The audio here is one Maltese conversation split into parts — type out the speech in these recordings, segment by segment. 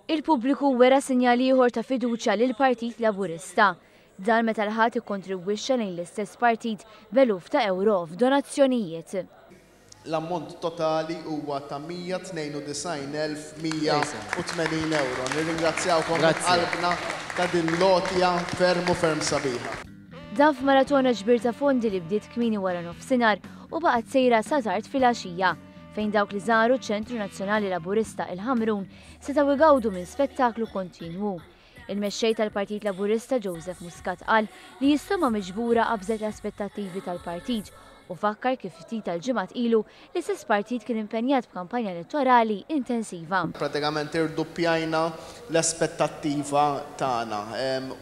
Il-pubbliku wera sinjal ieħor ta' fiduċja lill-Partit Laburista. Dan meta l-Ħadd ikkontribwixxa lejn l-istess partit b'eluf ta' ewro f'donazzjonijiet. L-ammont totali huwa ta' 192,180 ewro. Nirringrazzjawkom minn qalbna ta' din l-għotja ferm u ferm sabiħa. Dan f'maratona ġbir ta' fondi li bdiet kmieni waranofsinhar u baqgħet sejra sa tard filgħaxija, fejn dawk li żaru ċ-Ċentru Nazzjonali Laburista il-Ħamrun setgħu jgawdu minn spettaklu kontinwu. Il-Mexxej tal-Partit Laburista Joseph Muscat qal li s-somma miġbura qabżet l-aspettattivi tal-partit u fakkar kif ftit tal-ġimgħat ilu l-istess partit kien impenjat b'kampanja elettorali intensiva. Pratikament irduppjajna l-aspettattiva tagħna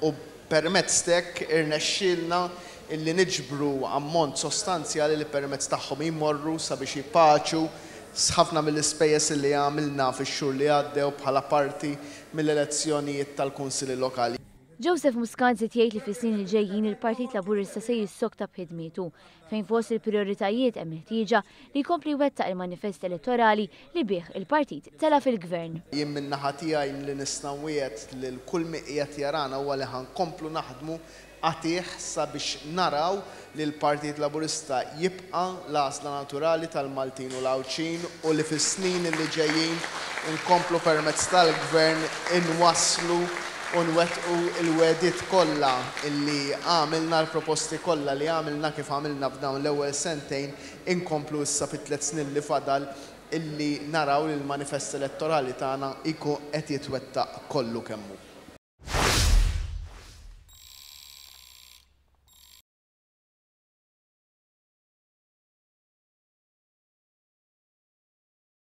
u permezz t'hekk irnexxielna illi niġbru ammont sostanzjali li permezz tagħhom jmorru sabiex jpaċu ħafna mill-ispejjeż li għamilna fix-xhur li għaddew bħala parti mill-elezzjonijiet tal-Kunsilli Lokali. Joseph Muscat żied jgħid li fis-snin li ġejjin il-Partit Laburista se jissokta b'ħidmietu, fejn fost il-prijoritajiet hemm il-ħtieġa li jkompli jwettaq il-manifest elettorali li bih il-partit tela' fil-Gvern. Jien min-naħa tiegħi li nista' nwiegħed lil kull min qiegħed jarana huwa li ħa nkomplu naħdmu qatigħ sabiex naraw li l-Partit Laburista jibqa' l-għażla naturali tal-Maltin u l-Għawdxin u li fis-snin li ġejjin inkomplu permezz tal-Gvern inwasslu u nwettqu l-wegħdiet kollha li għamilna, l-proposti kollha li għamilna kif għamilna f'dawn l-ewwel sentejn, inkomplu issa fit-tliet snin li fadal illi naraw li l-manifest elettorali tagħna jkun qed jitwettaq kollu kemm hu.